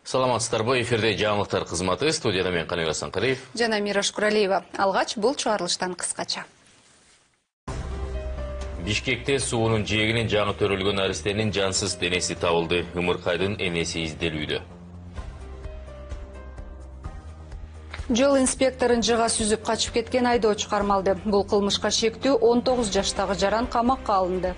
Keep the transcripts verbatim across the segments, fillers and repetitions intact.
Саламатсыздарбы, эфирде жаңылыктар кызматы, студияда мен Каныбек Асанкалиев жана Мираш Куралиева. Алгач бул чыгарылыштан кыскача. Бишкекте суунун жээгинен жаңы төрөлгөн аристенин жансыз денеси табылды. Ымыркайдын энеси изделүүдө. Жол инспекторун жыга сүзүп качып кеткен айдоочу кармалды. Бул кылмышка шектүү он тогуз жаштагы жаран камакка алынды.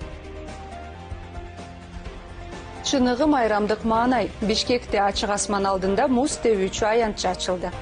Чыныгы майрамдык маанай. Бишкекте ачык асман алдында муз тебүүчү аянтча ачылды.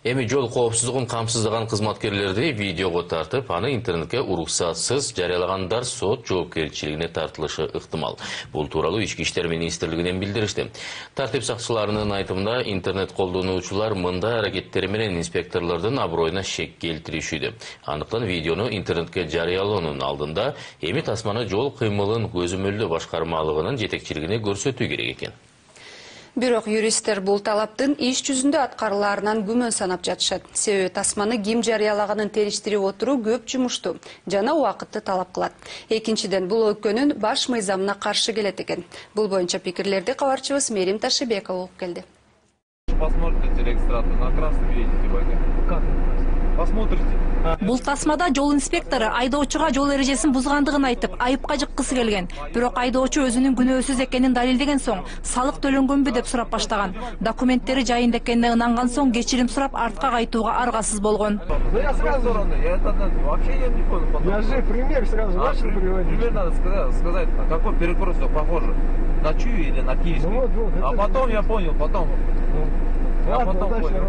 Эми жол коопсуздугун камсыздаган кызматкерлерди видеого тартып, аны интернетке уруксатсыз жарыялагандар сот жоопкерчилигине тартылышы ыктымал. Бул тууралуу Ички иштер министрлигинен билдиришти. Тартип сакчыларынын айтымында, интернет колдонуучулар мындай аракеттери менен инспекторлордун аброюна шек келтиришүүдө. Андыктан видеону интернетке жарыялоонун алдында эми тасманы жол кыймылын көзөмөлдөө башкармалыгынын жетекчилигине көрсөтүү керек экен. Бирок юристтер бул талаптын иш жүзүндө аткарылаарынан күмөн санап жатышат. Себеби тасманы ким жарыялаганын териштирип отуруу көп жумушту жана убакытты талап кылат. Экинчиден, бул өлкөнүн баш мыйзамына каршы келет экен. Бул боюнча пикирлерди кабарчыбыз Мерим Ташибекова угуп келди. Посмотрите регистратор, на красный видите, как? Посмотрите. Бул тасмада жол инспектору айдоочуга жол эрежесин бузгандыгын айтып, айыпка жыккысы келген. Бирок айдоочу өзүнүн күнөөсүз экенин далилдеген соң, салык төлөнгөнбү деп сурап баштаган. Документтери жайында экенине ынанган соң кечирим сурап артка кайтууга аргасыз болгон. Я сразу, я тогда вообще я не понял. Я же пример сразу начал приводить. Пример надо сказать, сказать, на какой перекресток похоже, на чью или на киевский. Ну, вот, вот, а потом я понял, потом. Я потом понял.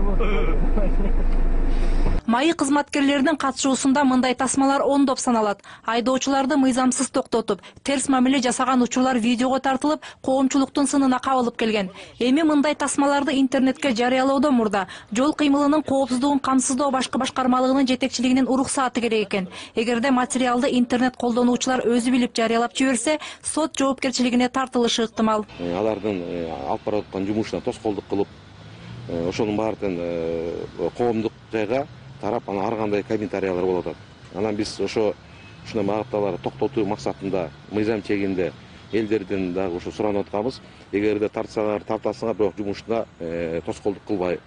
Майы кызматкерлеринин катышуусунда мындай тасмалар ондоп саналат. Айдоочуларды мыйзамсыз токтотуп, терс мамиле жасаган учурлар видеого тартылып, коомчулуктун сынына кабылып келген. Эми мындай тасмаларды интернетке жарыялоодон мурда жол кыймылынын коопсуздугун камсыздоо башкы башкармалыгынын жетекчилигинин уруксаты керек экен. Эгерде материалды интернет колдонуучулар өзү билип жарыялап жиберсе, сот жоопкерчилигине тартылышы ыктымал. Алардын алып бараткан жумушуна тоскоолдук кылып, ошонун баардыгын коомдук жайга тарап, ана ар кандай комментариялар болуп атат. Анан биз ошо ушундай магатталарды токтотуу максатында мыйзам чегинде элдерден дагы ошо суранып атканбыз. Эгерде тартсаңар, тартасыңар, бирок жумушуна тоскоолдук кылбай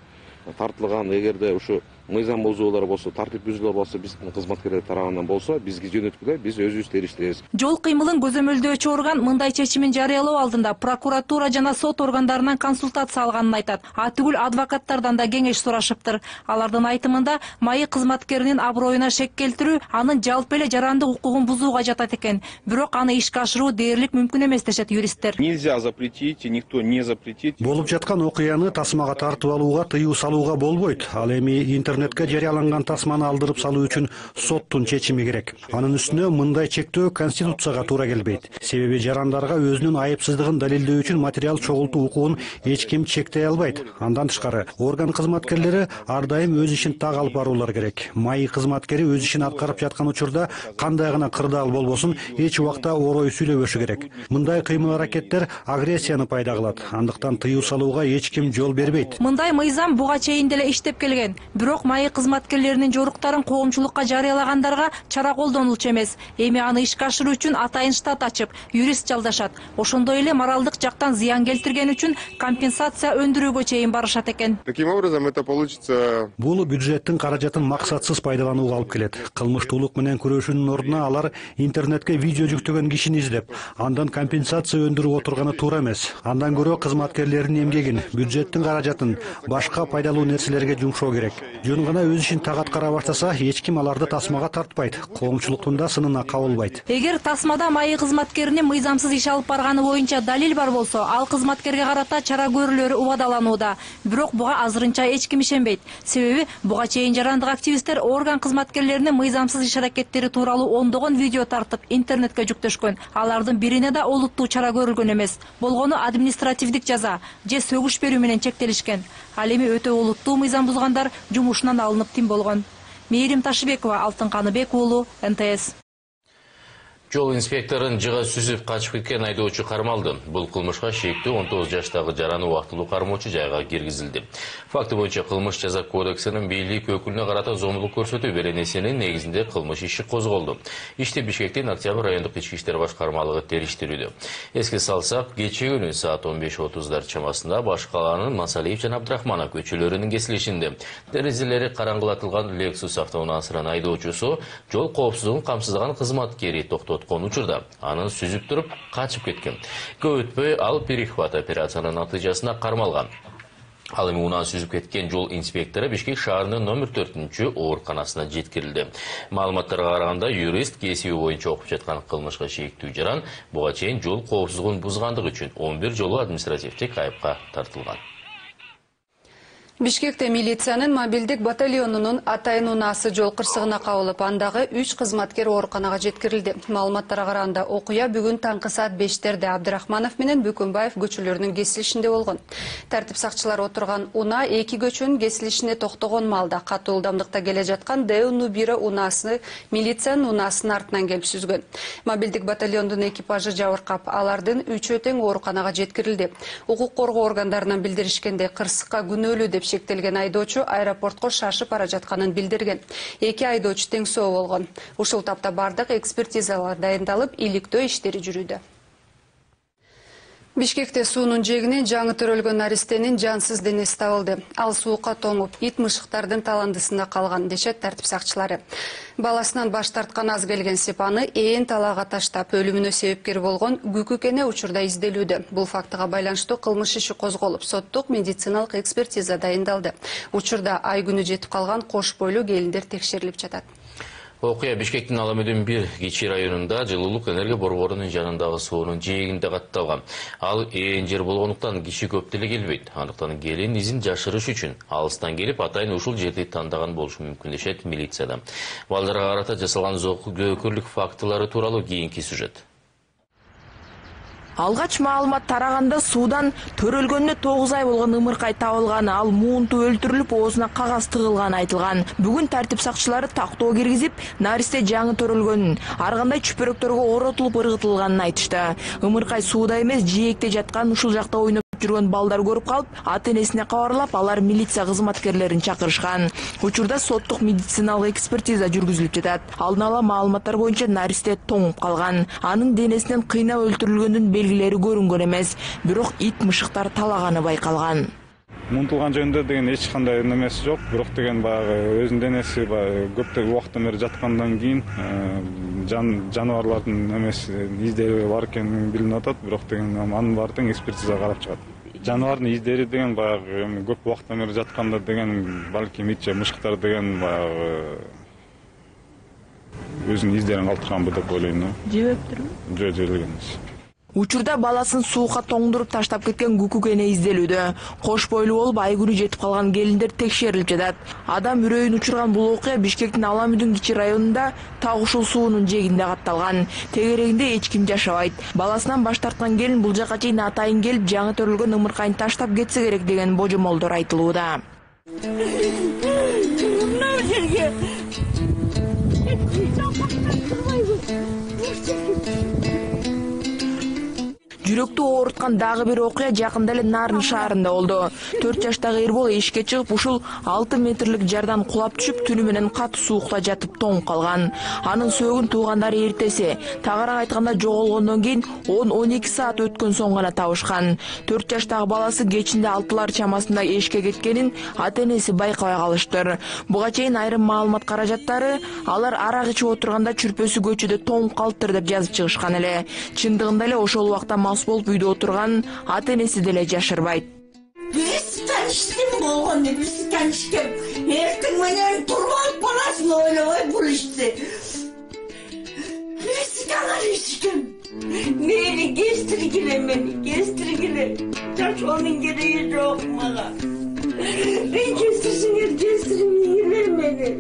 тартылган, эгерде ушу мыйзам бузуулар болсо, тартип бүзүүлөр болсо, биздин кызматкерлер тарабынан болсо, бизге жөнөткүлө, биз өзүбүз териштиребиз. Жол кыймылын көзөмөлдөөчү орган мындай чечимин жарыялоо алдында прокуратура жана сот органдарынан консультация алганын айтат. А түгүл адвокаттардан да кеңеш сурашыптыр. Алардын айтымында, майы кызматкеринин аброюна шек келтирүү анын жалпы эле жарандык укугун бузууга жатат экен. Бирок аны ишке ашыруу дээрлик мүмкүн эмес дешет юристтер. Нельзя запретить, никто не запретит. Болуп жаткан окуяны тасмага тартып алууга тыюу салууга болбойт. Ал эми интернетке жарыяланган тасманы алдырып салуу үчүн соттун чечими керек. Анын үстүнө мындай чектөө конституцияга туура келбейт. Себеби жарандарга өзүнүн айыпсыздыгын далилдөө үчүн материал чогултуу укугун эч ким чектей албайт. Андан тышкары, орган кызматкерлери ар дайым өз ишин так алып баруулар керек. Майы кызматкери өз ишин аткарып жаткан учурда кандай гана кырдаал болбосун эч убакта орой сүйлөбөшү керек. Мындай кыймыл аракеттер агрессияны пайда кылат. Андыктан тыюу салууга эч ким жол бербейт. Мындай мыйзам буга чейин деле иштеп келген. Бирок майы кызматкерлеринин жоруктарын коомчулукка жарыялагандарга чара колдонулчу эмес. Эми аны ишке ашыруу үчүн атайын штат ачып, юрист жалдашат. Ошондой эле моралдык жактан зыян келтирген үчүн компенсация өндүрүүгө чейин барышат экен. Таким образом это получится. Бул бюджеттин каражатын максатсыз пайдаланууга алып келет. Кылмыштуулук менен күрөшүүнүн ордуна алар интернетке видео жүктөгөн кишини издеп, андан компенсация өндүрүп отурганы туура эмес. Андан көрө кызматкерлердин эмгегин, бюджеттин каражатын башка пайдалуу нерселерге жумшоо керек. Жөн гана өз ишин так аткара баштаса, эч ким аларды тасмага тартпайт, коомчулуктун да сынына кабылбайт. Эгер тасмада майы кызматкеринин мыйзамсыз иш алып барганы боюнча далил бар болсо, ал кызматкерге карата чара көрүлөрү убадаланууда. Бирок буга азырынча эч ким ишенбейт. Себеби буга чейин жарандык активисттер орган кызматкерлеринин мыйзамсыз иш аракеттери тууралуу ондогон видео тартып интернетке жүктөшкөн. Алардын бирине да олуттуу чара көрүлгөн эмес. Болгону административдик жаза же сөгүш берүү менен чектелишкен. Ал эми өтө олуттуу мыйзам бузгандар жумушунан алынып тим болгон. Мерим Ташибекова, Алтын Каныбек уулу, эн тэ эс. Жол инспекторун жыга сүзүп качып кеткен айдоочу кармалды. Бул кылмышка шектүү он тогуз жаштагы жараны убактылуу кармоочу жайга киргизилди. Факты боюнча кылмыш жаза кодексинин бийлик өкүлүнө карата зомбулук көрсөтүү беренесинин негизинде кылмыш иши козголду. Ишти Бишкектин Октябрь райондук ички иштер башкармалыгы териштирүүдө. Эске салсак, кечээ күнү саат он беш отуздар чамасында Баш калаанын Масалиев жана Абдрахманов көчөлөрүнүн кесилишинде терезелери караңгылатылган Lexus автоунаасынын айдоочусу жол коопсуздугун камсыздаган кызматкери токтоткон учурда анын сүзүп туруп качып кеткен. Көп өтпөй ал перехват операциянын натыйжасында кармалган. Ал эми унааны сүзүп кеткен жол инспектору Бишкек шаарынын номер төртүнчү ооруканасына жеткирилди. Маалыматтарга караганда, юрист кесиби боюнча окуп жаткан кылмышка шектүү жаран буга чейин жол коопсуздугун бузгандыгы үчүн он бир жолу административдик айыпка тартылган. Бишкекте милициянын мобилдик батальонунун Атайын унаасы жол кырсыгына кабылып, андагы үч кызматкер ооруканага жеткирилди. Маалыматтарга караганда, окуя бүгүн таңкы саат бештерде Абдрахманов менен Бүкүнбаев көчөлөрүнүн кесилишинде болгон. Тартип сакчылары отурган унаа эки көчөнүн кесилишине токтогон маалда катуу ылдамдыкта келе жаткан Д бир унаасы милициянын унаасынын артынан келип сүзгөн. Мобилдик батальондун экипажы жабыркап, алардын үчөө тең ооруканага жеткирилди. Укук коргоо органдарынан билдиришкенде, кырсыкка күнөөлүү деп шектелген айдоочу аэропортко шашып бара жатканын билдирген. Эки айдоочу тең соо болгон. Ушул тапта бардык экспертизалар дайындалып, иликтөө иштери жүрүүдө. Бишкекте суунун жээгинен жаңы төрөлгөн наристенин жансыз денеси табылды. Ал суукка тоңуп, ит мышыктардын таландысында калган, дешет тартип сакчылары. Баласынан баш тарткан аз келген Сепаны ээн талаага таштап, өлүмүнө себепкер болгон Күкүкене учурда изделүүдө. Бул фактыга байланыштуу кылмыш иши козголуп, соттук медициналык экспертиза дайындалды. Учурда ай күнү жетип калган кош бойлуу келиндер текшерилип жатат. Окуя Бишкектин Аламөдүн бир Кичи районунда жылуулук энергия борборунун жанындагы суунун жээгинде катталган. Ал ээн жер болгондуктан киши көп деле келбейт. Андыктан келин изин жашырыш үчүн алыстан келип, атайын ушул жерди тандаган болушу мүмкүн дешет милицияда. Балдарга карата жасалган жоокөрлүк фактылары тууралуу кийинки сюжет. Алгач маалымат тараганда суудан төрөлгөнүнө тогуз ай болгон ымыркай табылганы, ал муунту өлтүрүлүп, оозуна кагаз тыгылганы айтылган. Бүгүн тартип сакчылары тактоо киргизип, наристе жаңы төрөлгөнүн, ар кандай чүпөрөктөргө оротулуп ыргытылганын айтышты. Ымыркай сууда эмес, жээкте жаткан, ушул жакта ойноп жүргөн балдар көрүп калып, ата-энесине кабарлап, алар милиция кызматкерлерин чакырышкан. Учурда соттук медициналык экспертиза жүргүзүлүп жатат. Алдын ала маалыматтар боюнча наристе тоңуп калган. Анын денесинен кыйнап өлтүрүлгөндүн белгилери көрүнгөн эмес, бирок ит мышыктар талаганы байкалган. Мунтулган жөнүндө деген эч кандай немеси жок, бирок деген баягы өзүнүн денеси көптөгөн убакыттан бери жаткандан кийин жаныбарлардын немеси издери бар экени билинип атат, бирок деген анын баары тең экспертиза карап чыгат. Жаныбардын издери деген баягы көп убакыттан бери жатканда деген балким ит же мышыктар деген баягы өзүнүн издерин калтырганбы деп ойлойм. Жебептирби? Жок, жебелген эмес. Учурда баласын суукка тоңдуруп таштап кеткен Күкүкене изделүүдө. Кош бойлуу болуп, ай күнү жетип калган келиндер текшерилип жатат. Адам үрөйүн учурган бул окуя Бишкектин Аламүдүн Кичи районунда так ушул суунун жээгинде катталган. Тегерегинде эч ким жашабайт. Баласынан баш тарткан келин бул жака чейин атайын келип, жаңы төрөлгөн ымыркайын таштап кетсе керек деген божомолдор айтылууда. Жүрөктү ооруткан дагы бир окуя жакында эле Нарын шаарында болду. төрт жаштагы Эрбол эшикке чыгып, ушул алты метрлик жардан кулап түшүп, түнү менен катуу суукта жатып тоңуп калган. Анын сөөгүн туугандары эртеси, тагыраак айтканда жоголгондон кийин он он эки саат өткөн соң гана табышкан. төрт жаштагы баласы кечинде алтылар чамасында эшикке кеткенин ата-энеси байкабай калыштыр. Буга чейин айрым маалымат каражаттары алар арак ичип отурганда чүрпөсү көчөдө тоңуп калыптыр деп жазып чыгышкан эле. Чындыгында эле ошол убакта болуп үйдө отурган ата-энеси деле жашырбайт. Биз таништим болгон, биз танишкем. Эртең менен туруп алып баласын ойлобой бул ишти. Биз танишкем. Мени кестиргиле, мени кестиргиле. Жашоонун кереги жок мага. Мен кестирсиңер, кестирмеңер мени.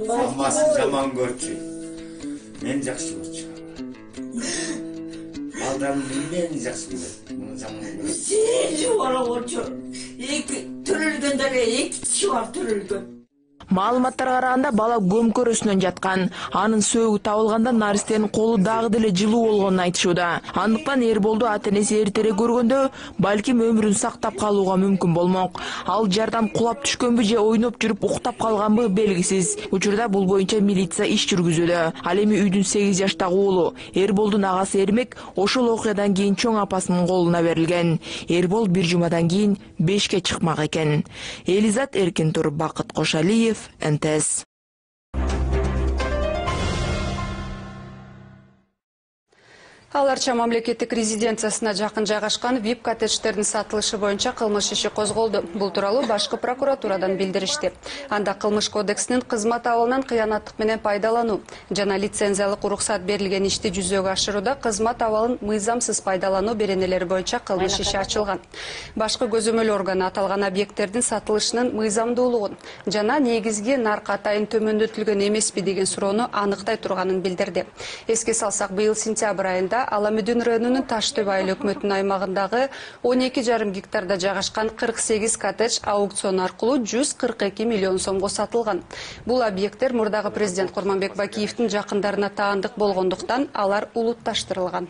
Амасы жаман көрчү. Мен жакшы көрчү. Балдарым мен жакшы көрөм. Сен жуара болчу. Эки төрөлгөндөр эки киши бар төрөлгөн. Маалыматтарга караганда бала көмкөрөсүнөн жаткан. Анын сөөгү табылганда наристенин колу дагы деле жылуу болгонун айтышууда. Андыктан Эрболду ата-энеси эртерээк көргөндө балким өмүрүн сактап калууга мүмкүн болмок. Ал жардан кулап түшкөнбү же ойноп жүрүп уктап калганбы белгисиз. Учурда бул боюнча милиция иш жүргүзүүдө. Ал эми үйдүн сегиз жаштагы уулу Эрболдун агасы Эрмек ошол окуядан кийин чоң апасынын колуна берилген. Эрбол бир жумадан кийин бешке чыкмак экен. Элизат Эркинтур, Бакыт Кошалиев, эн тэ эс. Ал Арча мамлекеттик резиденциясына жакын жайгашкан вип коттедждердин сатылышы боюнча кылмыш иши козголду. Бул тууралуу башкы прокуратурадан билдиришти. Анда кылмыш кодексинин кызмат абалынан кыянаттык менен пайдалануу жана лицензиялык уруксат берилген ишти жүзөгө ашырууда кызмат абалын мыйзамсыз пайдалануу беренелери боюнча кылмыш иши ачылган. Башкы көзөмөл органы аталган объекттердин сатылышынын мыйзамдуулугун жана негизги нарк атайын төмөндөтүлгөн эмеспи деген суроону аныктай турганын билдирди. Эске салсак, быйыл сентябрь айында Аламүдүн районунун Таштөб айыл өкмөтүнүн аймагындагы он эки жарым гектарда жайгашкан кырк сегиз коттедж аукцион аркылуу жүз кырк эки миллион сомго сатылган. Бул объекттер мурдагы президент Курманбек Бакиевдин жакындарына таандык болгондуктан алар улутташтырылган.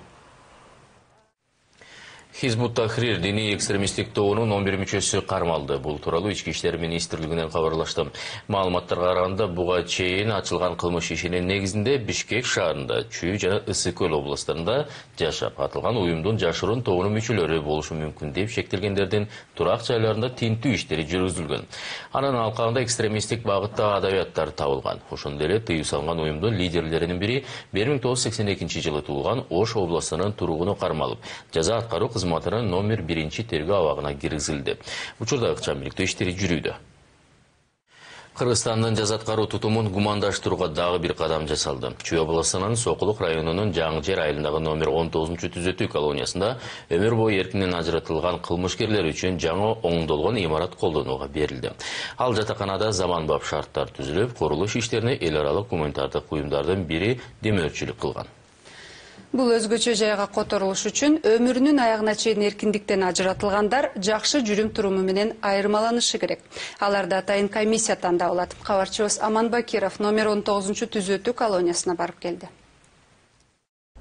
Хизбут Тахрир диний экстремисттик тобунун он бир мүчөсү кармалды. Бул тууралуу Ички иштер министрлигинен кабарлашты. Маалыматтарга караганда, буга чейин ачылган кылмыш ишинин негизинде Бишкек шаарында, Чүй жана Ысык көл областарында жашап атылган уюмдун жашыруун тобунун мүчөлөрү болушу мүмкүн деп шектелгендердин турак жайларында тинтүү иштери жүргүзүлгөн. Анын алкагында экстремисттик багытта адабияттар табылган. Ошондой эле тыюу салган уюмдун лидерлеринин бири бир миң тогуз жүз сексен экинчи жылы туулган Ош областынын тургуну кармалып, жаза аткаруу кызматынын номер биринчи тергөө абагына киргизилди. Учурда ыкчам бийликтөө иштери жүрүүдө. Кыргызстандын жаза аткаруу тутумун гумандаштырууга дагы бир кадам жасалды. Чүй областынын Сокулук районунун Жаңы жер айылындагы номер он тогузунчу түзөтүү колониясында өмүр бою эркинен ажыратылган кылмышкерлер үчүн жаңы оңдолгон имарат колдонууга берилди. Ал жатаканада заманбап шарттар түзүлүп, курулуш иштерине эл аралык гуманитардык уюмдардын бири демөөрчүлүк кылган. Бул өзгөчө жайга которулуш үчүн өмүрүнүн аягына чейин эркиндиктен ажыратылгандар жакшы жүрүм туруму менен айырмаланышы керек. Аларды атайын комиссия тандап алат. Кабарчыбыз Аман Бакиров номер он тогузунчу түзөтүү колониясына барып келди.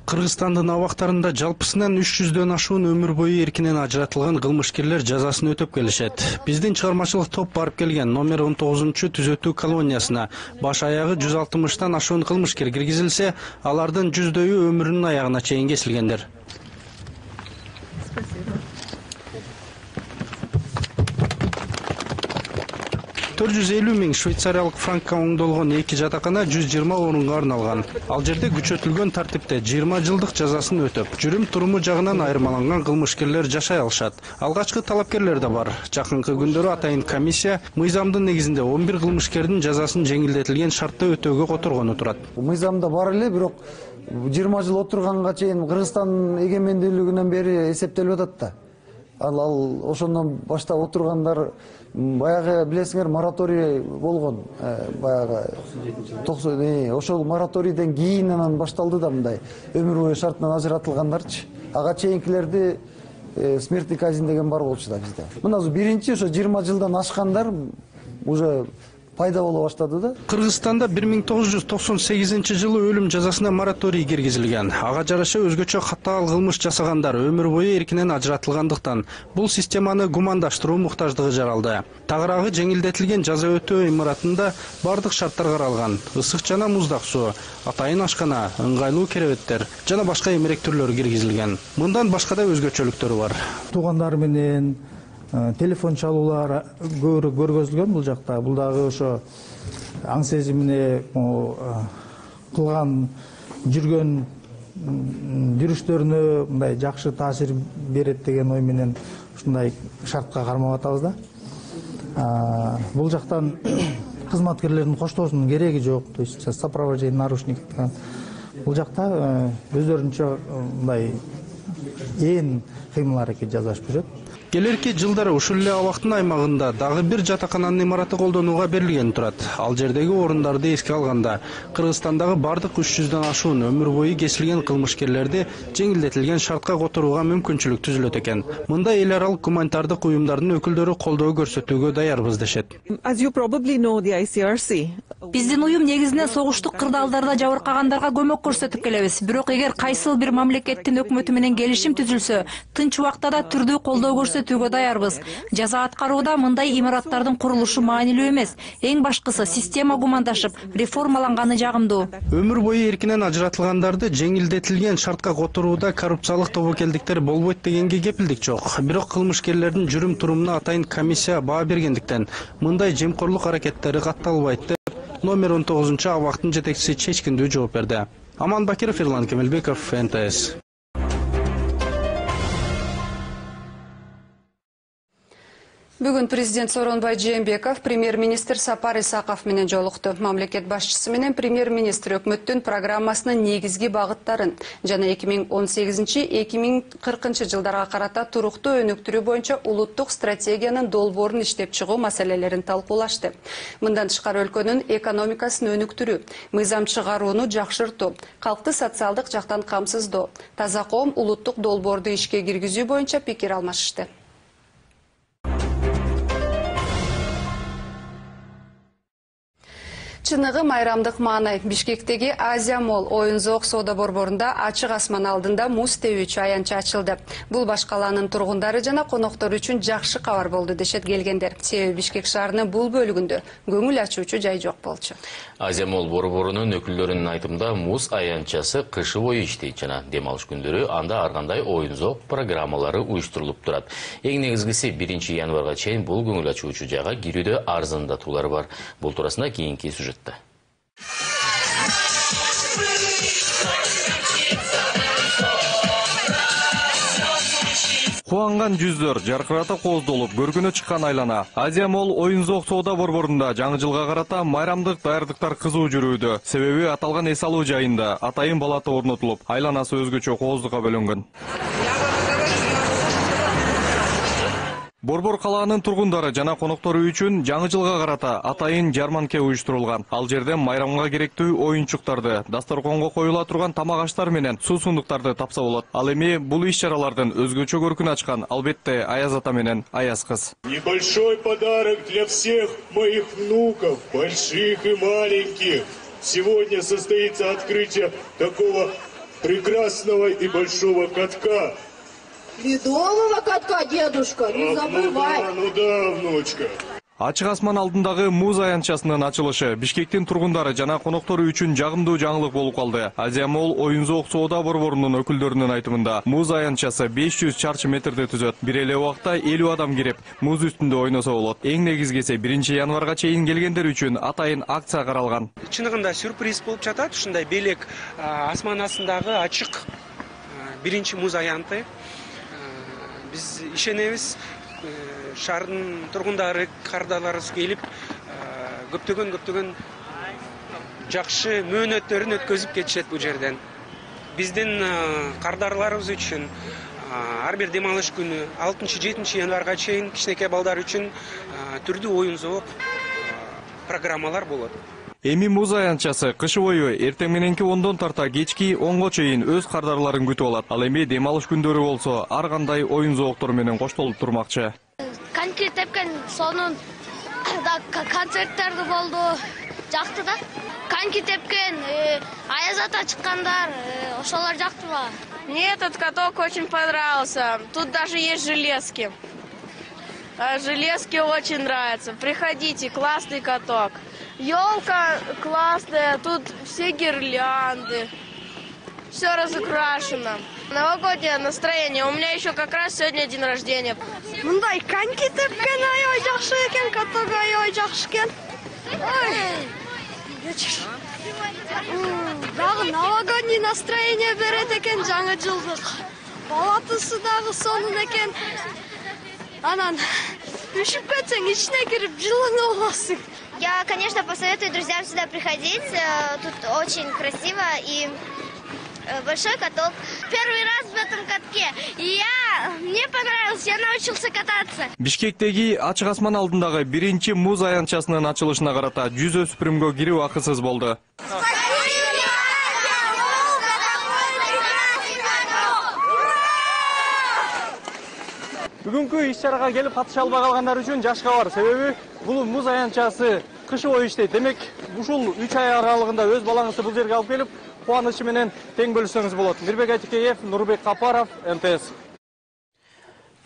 Кыргызстандын абактарында жалпысынан үч жүздөн ашуун өмүр бою эркинен ажыратылган кылмышкерлер жазасын өтөп келишет. Биздин чыгармачылык топ барып келген номер он тогузунчу түзөтүү колониясына баш аягы жүз алтымыштан ашуун кылмышкер киргизилсе, алардын жүздөйү өмүрүнүн аягына чейин кесилгендер. төрт жүз элүү миң швейцариялык франкка оңдолгон эки жатакана жүз жыйырма орунга арналган. Ал жерде күчөтүлгөн тартипте жыйырма жылдык жазасын өтөп, жүрүм туруму жагынан айырмаланган кылмышкерлер жашай алышат. Алгачкы талапкерлер да бар. Жакынкы күндөрү атайын комиссия мыйзамдын негизинде он бир кылмышкердин жазасын жеңилдетилген шартта өтөөгө которгону турат. Мыйзамда бар эле, бирок жыйырма жыл отурганга чейин Кыргызстандын эгемендүүлүгүнөн бери эсептелип атат да. Ал ал ошондон баштап отургандар баягы билесиңер мораторий болгон, баягы ошол мораторийден кийин анан башталды да мындай өмүр бою шартынан ажыратылгандарчы. Ага чейинкилерди смертный казнь деген бар болчу да бизде. Мына биринчи ошо жыйырма жылдан ашкандар уже пайда боло баштады да. Кыргызстанда бир миң тогуз жүз токсон сегизинчи жылы өлүм жазасына мораторий киргизилген. Ага жараша өзгөчө катаал кылмыш жасагандар өмүр бою эркинен ажыратылгандыктан бул системаны гумандаштыруу муктаждыгы жаралды. Тагыраагы жеңилдетилген жаза өтөө имаратында бардык шарттар каралган. Ысык жана муздак суу, атайын ашкана, ыңгайлуу керебеттер жана башка эмерек түрлөрү киргизилген. Мындан башка да өзгөчөлүктөрү бар. Туугандар менен телефон чалуулар көбүрөөк көргөзүлгөн бул жакта. Бул дагы ошо аң сезимине кылган жүргөн жүрүштөрүнө мындай жакшы таасир берет деген ой менен ушундай шартка кармап атабыз да. Бул жактан кызматкерлердин коштоосунун кереги жок, то есть сопровождение нарушников. Бул жакта өздөрүнчө мындай ээн кыймыл аракет жасашып жүрөт. Келерки жылдары ушул эле абактын аймагында дагы бир жатакананын имараты колдонууга берилген турат. Ал жердеги орундарды эске алганда Кыргызстандагы бардык үч жүздөн ашуун өмүр бою кесилген кылмышкерлерди жеңилдетилген шартка которууга мүмкүнчүлүк түзүлөт экен. Мында эл аралык гуманитардык уюмдардын өкүлдөрү колдоо көрсөтүүгө даярбыз дешет. Биздин уюм негизинен согуштук кырдаалдарда жабыркагандарга көмөк көрсөтүп келебиз. Бирок эгер кайсыл бир мамлекеттин өкмөтү менен келишим түзүлсө, тынч убакта да түрдүү колдоо көрсөтүүгө даярбыз. Жаза аткарууда мындай имараттардын курулушу маанилүү эмес. Эң башкысы система гумандашып, реформаланганы жагымдуу. Өмүр бою эркинен ажыратылгандарды жеңилдетилген шартка которууда коррупциялык тобокелдиктер болбойт дегенге кепилдик жок. Бирок кылмышкерлердин жүрүм турумуна атайын комиссия баа бергендиктен мындай жемкорлук аракеттери катталбайт деп номер он тогузунчу абактын жетекчиси чечкиндүү жооп берди. Аман Бакиров, Эрлан Кемелбеков, эн тэ эс. Бүгүн президент Сооронбай Жээнбеков премьер-министр Сапар Исаков менен жолукту. Мамлекет башчысы менен премьер-министр өкмөттүн программасынын негизги багыттарын жана эки миң он сегизинчи — эки миң кыркынчы жылдарга карата туруктуу өнүктүрүү боюнча улуттук стратегиянын долбоорун иштеп чыгуу маселелерин талкуулашты. Мындан тышкары өлкөнүн экономикасын өнүктүрүү, мыйзам чыгарууну жакшыртуу, калкты социалдык жактан камсыздоо, таза коом улуттук долбоорду ишке киргизүү боюнча пикир алмашышты. Чыныгы майрамдык маанай. Бишкектеги Азия Молл оюн-зоок соода борборунда ачык асман алдында муз тебүүчү аянча ачылды. Бул баш калаанын тургундары жана коноктору үчүн жакшы кабар болду дешет келгендер. Себеби Бишкек шаарынын бул бөлүгүндө көңүл ачуучу жай жок болчу. Азия Молл борборунун өкүлдөрүнүн айтымында муз аянчасы кышы бою иштейт жана дем алыш күндөрү анда ар кандай оюн-зоок программалары уюштурулуп турат. Эң негизгиси биринчи январга чейин бул көңүл ачуучу жайга кирүүдө арзандатуулар бар. Бул туурасында кийинки сюжет. Кубанган жүздөр жаркырата кооздолуп көркүнө чыккан айлана. Азия Молл оюн-зоок соода борборунда жаңы жылга карата майрамдык даярдыктар кызуу жүрүүдө. Себеби аталган эс алуу жайында атайын балата орнотулуп, айланасы өзгөчө кооздукка бөлөнгөн. Борбор калаанын тургундары жана коноктору үчүн жаңы жылга карата атайын жарманке уюштурулган. Ал жерде майрамга керектүү оюнчуктарды, дасторконго коюла турган тамак аштар менен суусундуктарды тапса болот. Ал эми бул иш-чаралардын өзгөчө көркүн ачкан албетте Аяз ата менен Аяз кыз. Небольшой подарок для всех моих внуков, больших и маленьких. Сегодня состоится открытие такого прекрасного и большого катка. Ледового катка, дедушка, не забывай. Ну да, внучка. Ачык асман алдындагы муз аянчасынын ачылышы Бишкектин тургундары жана коноктору үчүн жагымдуу жаңылык болуп калды. Азия Молл оюн-зоок соода борборунун өкүлдөрүнүн айтымында муз аянчасы беш жүз чарчы метрди түзөт. Бир эле убакта элүү адам кирип, муз үстүндө ойносо болот. Эң негизгиси биринчи январга чейин келгендер үчүн атайын акция каралган. Чыныгында сюрприз болуп жатат. Ушундай белек асман астындагы ачык биринчи муз аянты. Биз ишенебиз, шаардын тургундары, кардаларыбыз келип, көптөгөн көптөгөн жакшы мөөнөттөрүн өткөзүп кетишет бул жерден. Биздин кардарларыбыз үчүн ар бир дем алыш күнү алтынчы жетинчи январга чейин кичинекей балдар үчүн түрдүү оюн-зоок программалар болот. Эми муз аянчасы кышы бою эртең мененки ондон тарта кечки онго чейин өз кардарларын күтүп алат. Ал эми дем алыш күндөрү болсо ар кандай оюн-зооктор менен коштолуп турмакчы. Коньки тепкен сонун концерттерди болду. Жакты да. Коньки тепкен, Аяз ата чыккандар, ошолор жактыбы? Мне этот каток очень понравился. Тут даже есть железки. Железки очень нравятся. Приходите, классный каток. Елка классная, тут все гирлянды, все разукрашено. Новогоднее настроение. У меня еще как раз сегодня день рождения. Мындай коньки тепкен аябай жакшы экен, каток аябай жакшы экен. Дагы новогодний настроение берет экен жаңы жылдык. Балатысы дагы сонун экен. Анан үшүп кетсең ичине кирип жылынып аласың. Я, конечно, посоветую друзьям сюда приходить. Тут очень красиво и большой каток. Первый раз в этом катке. И я, мне понравилось, я научился кататься. Бишкектеги ачык асман алдындагы биринчи муз аянтчасынын ачылышына карата жүз өспүрүмгө кирүү акысыз болду. Бүгүнкү иш-чарага келип катыша албай калгандар үчүн жашка бар. Себеби бул муз аянтчасы кышы бою иштейт. Демек, ушул үч ай аралыгында өз балаңызды бул жерге алып келип, кубанычы менен тең бөлүшсөңүз болот. Мирбек Айтикеев, Нурбек Капаров, эм тэ эс.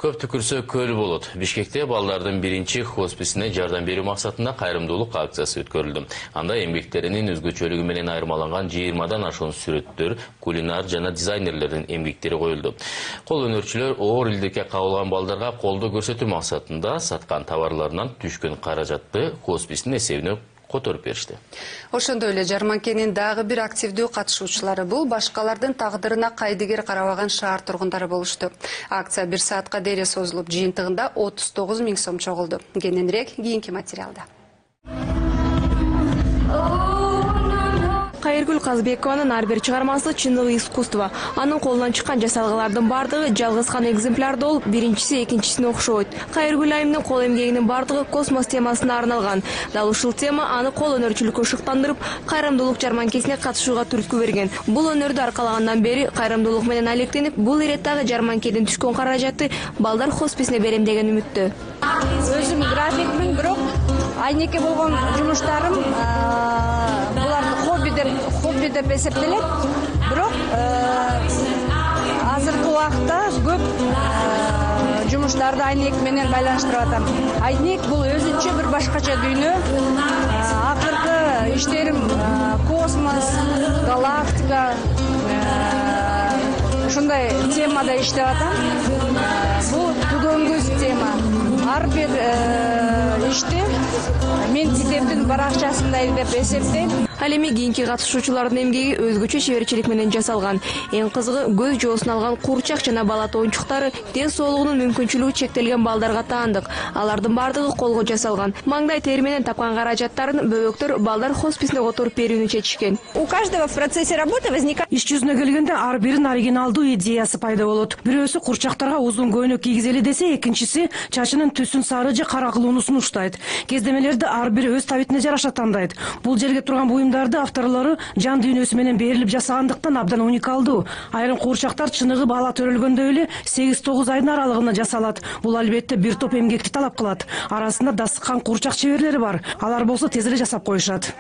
Көп түкүрсө көл болот. Бишкекте балдардын биринчи хосписине жардам берүү максатында кайрымдуулук акциясы өткөрүлдү. Анда эмгектеринин өзгөчөлүгү менен айырмаланган жыйырмадан ашуун сүрөттөр, кулинар жана дизайнерлердин эмгектери коюлду. Кол өнөрчүлөр оор илдикке кабылган балдарга колдоо көрсөтүү максатында саткан товарларынан түшкөн каражатты хоспистин эсебине которуп беришти. Ошондой эле жарманкенин дагы бир активдүү катышуучулары бул башкалардын тагдырына кайдыгер карабаган шаар тургундары болушту. Акция бир саатка дейре созулуп, жыйынтыгында отуз тогуз миң сом чогулду. Кененирээк кийинки материалда. Кайыргүл Казбекованын ар бир чыгармасы чындыгы искусство. Анын колунан чыккан жасалгалардын бардыгы жалгыз гана экземплярда болуп, биринчиси экинчисине окшобойт. Кайыргүл айымдын кол эмгегинин бардыгы космос темасына арналган. Дал ушул тема аны кол өнөрчүлүккө шыктандырып, кайрымдуулук жарманкесине катышууга түрткү берген. Бул өнөрдү аркалагандан бери кайрымдуулук менен алектенип, бул иреттагы жарманкеден түшкөн каражатты балдар хосписине берем деген үмүттө. Өзүм графикмин, бирок айнеке болгон жумуштарым буларды хобби деп хобби деп эсептелет. Бирок азыркы убакта көп жумуштарды айнек менен байланыштырып атам. Айнек бул өзүнчө бир башкача дүйнө. Акыркы иштерим космос, галактика, ушундай темада иштеп атам. Бул түгөнгүз тема. Ар бир ишти мен китептин баракчасындай деп эсептейм. Ал эми кийинки катышуучулардын эмгеги өзгөчө чеберчилик менен жасалган. Эң кызыгы көз жоосун алган курчак жана бала тоончуктары ден соолугунун мүмкүнчүлүгү чектелген балдарга таандык. Алардын бардыгы колго жасалган. Маңдай тери менен тапкан каражаттарын бөбөктөр балдар хосписине которуп берүүнү чечишкен. У каждого в процессе работы возникает. Иш жүзүнө келгенде ар биринин оригиналдуу идеясы пайда болот. Бирөөсү курчактарга узун көйнөк кийгизели десе, экинчиси чачынын түсүн сары же кара кылуunu сунуштайт. Кездемелерди ар бири өз табитине жараша тандайт. Бул жерге турган буюмдарды авторлору жан дүйнөсү менен берилип жасагандыктан абдан уникалдуу. Айрым куурчактар чыныгы бала төрөлгөндөй эле сегиз тогуз айдын аралыгында жасалат. Бул албетте бир топ эмгекти талап кылат. Арасында дастыккан куурчак чеберлери бар. Алар болсо тез эле жасап коюшат.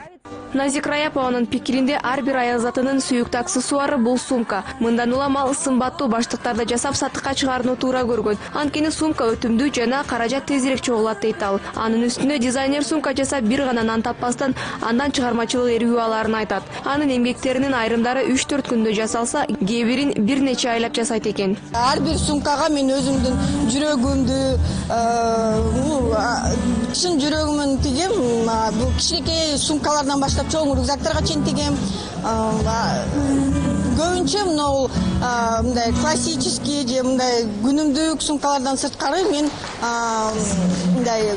Назик Раяпованын пикиринде ар бир аял затынын сүйүктүү аксессуары бул сумка. Мындан улам ал сымбаттуу баштыктарды жасап сатыкка чыгарууну туура көргөн. Анткени сумка өтүмдүү жана каражат тезирээк чогулат дейт ал. Анын үстүнө дизайнер сумка жасап бир гана нан таппастан андан чыгармачылык эргүү аларын айтат. Анын эмгектеринин айрымдары үч төрт күндө жасалса, кээ бирин бир нече айлап жасайт экен. Ар бир сумкага мен өзүмдүн жүрөгүмдү, чын жүрөгүмөн тигем. Бул кичинекей сумкалардан баштап чоң рюкзактарга чейин тигем. Көбүнчө мынау мындай классический же мындай күнүмдүк сумкалардан сырткары мен мындай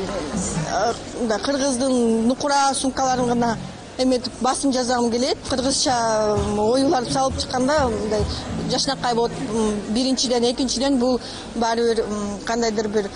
кыргыздын нукура сумкаларын гана эметип басым жазгым келет. Кыргызча оюларды салып чыкканда мындай жашнакай болот. Биринчиден, экинчиден бул баары бир кандайдыр бир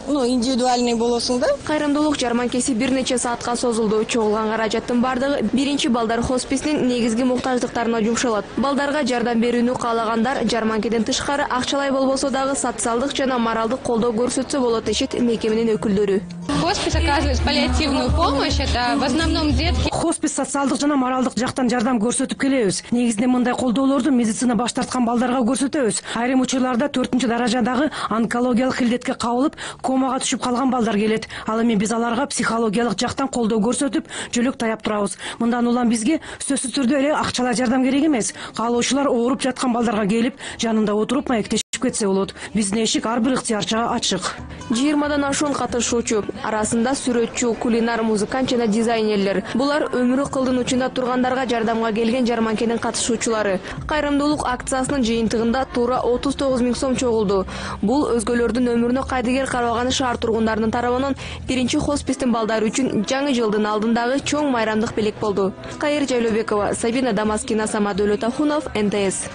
ну, индивидуальный болосуң да. Кайрымдуулук жарманкеси бир нече саатка созулду. Чогулган каражаттын бардыгы биринчи балдар хосписинин негизги муктаждыктарына жумшалат. Балдарга жардам берүүнү каалагандар жарманкеден тышкары акчалай болбосо дагы социалдык жана моралдык колдоо көрсөтсө болот дешет мекеменин өкүлдөрү. Хоспис оказывает паллиативную помощь, это в основном детки. Хоспис социалдык жана моралдык жактан жардам көрсөтүп келебиз. Негизинен мындай колдоолорду медицина баш тарткан балдарга көрсөтөбүз. Айрым учурларда төртүнчү даражадагы онкологиялык илдетке кабылып, комага түшүп калган балдар келет. Ал эми биз аларга психологиялык жактан колдоо көрсөтүп, жөлөк таяп турабыз. Мындан улам бизге сөзсүз түрдө эле акчалай жардам керек эмес. Каалоочулар ооруп жаткан балдарга келип, жанында отуруп маектешип кетсе болот. Биздин эшик ар бир ыктыярчыга ачык. жыйырмадан ашуун катышуучу, арасында сүрөтчү, кулинар, музыкант жана дизайнерлер. Булар өмүрү кылдын учунда тургандарга жардамга келген жарманкенин катышуучулары. Кайрымдуулук акциясынын жыйынтыгында туура отуз тогуз миң сом чогулду. Бул өзгөлөрдүн өмүрүнө кайдыгер карабаган шаар тургундарынын тарабынан биринчи хоспистин балдары үчүн жаңы жылдын алдындагы чоң майрамдык белек болду. Кайыр Жайлообекова, Сабина Дамаскина, Самат Өлөтахунов, эн тэ эс.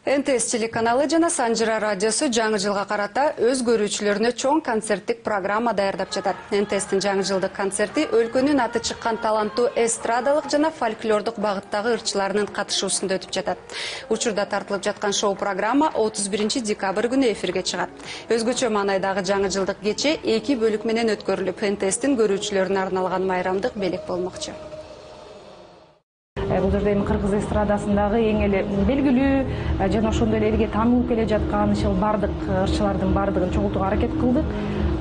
эн тэ эс телеканалы жана Санжыра радиосу жаңы жылга карата өз көрүүчүлөрүнө чоң концерттик программа даярдап жатат. эн тэ эстин жаңы жылдык концерти өлкөнүн аты чыккан таланттуу эстрадалык жана фольклордук багыттагы ырчыларынын катышуусунда өтүп жатат. Учурда тартылып жаткан шоу программа отуз биринчи декабрь күнү эфирге чыгат. Өзгөчө маанайдагы жаңы жылдык кече эки бөлүк менен өткөрүлүп, эн тэ эстин көрүүчүлөрүнө арналган майрамдык белек болмокчу. Бул жерде эми кыргыз эстрадасындагы эң эле белгилүү жана ошондой эле элге таанылып келе жаткан ушул бардык ырчылардын бардыгын чогултууга аракет кылдык.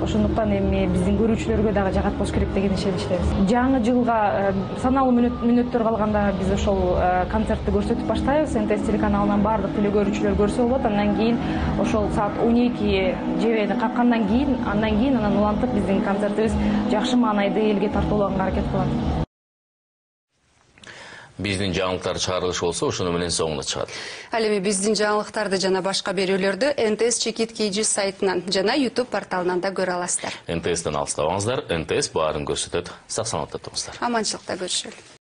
Ошондуктан эми биздин көрүүчүлөргө дагы жагат болуш керек деген ишеничтебиз. Жаңы жылга саналуу мүнөттөр калганда биз ошол концертти көрсөтүп баштайбыз. эн тэ эс телеканалынан бардык телекөрүүчүлөр көрсө болот. Андан кийин ошол саат он эки жебени каккандан кийин, андан кийин анан улантып биздин концертибиз жакшы маанайда элге тартуулаганга аракет кылат. Биздин жаңылыктар чыгарылышы болсо, ошону менен соңуна чыгат. Ал эми биздин жаңылыктарды жана башка берүүлөрдү эн тэ эс Чекит Кийжи сайтынан жана YouTube порталынан да көрө аласыздар. эн тэ эстен алыстабаңыздар, эн тэ эс баарын көрсөтөт. Сак саламатта туруңуздар. Аманчылыкта көрүшөлү.